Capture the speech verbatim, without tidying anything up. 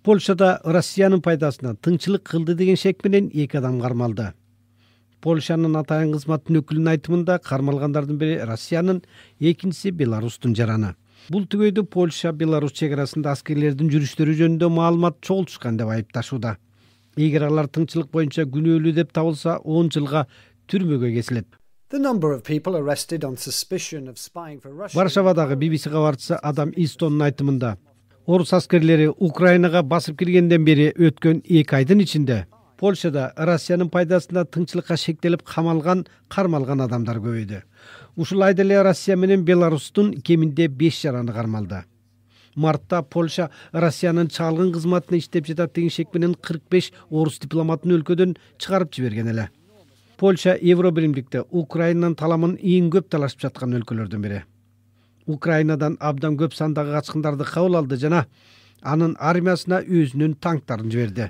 Польшада Россиянын пайдасына тыңчылык кылды деген шек менен эки адам кармалды. Польшанын атайын кызматтын өкүлүнүн айтымында кармалгандардын бири Россиянын, экинчиси Беларустун жараны. Бул түгөйдү Польша Беларусь чек арасында аскерлердин жүрүштөрү жөнүндө маалымат чогултушкан деп айыпташууда. Эгер алар тыңчылык боюнча күнөөлүү деп табылса, он жылга түрмөгө кесилет. Варшавадагы би би си кабарчысы Адам Истонун айтымында, орус аскерлери Украинага басып киргенден бери өткөн эки айдын ичинде Польшада Россиянын пайдасына тыңчылыкка шектелип камалган, кармалган адамдар көбөйдү. Ушул айда эле Россия менен Беларустун кеминде беш жараны кармалды. Мартта Польша Россиянын чалгын кызматына иштеп жатат деген шек менен кырк беш орус дипломатын өлкөдөн чыгарып жиберген эле. Польша Евробиримдикте Украинанын таламын эң көп талашып жаткан өлкөлөрдүн бири. Украинадан абдан көп сандагы качкындарды кабыл алды жана анын армиясына өзүнүн танктарын жиберди.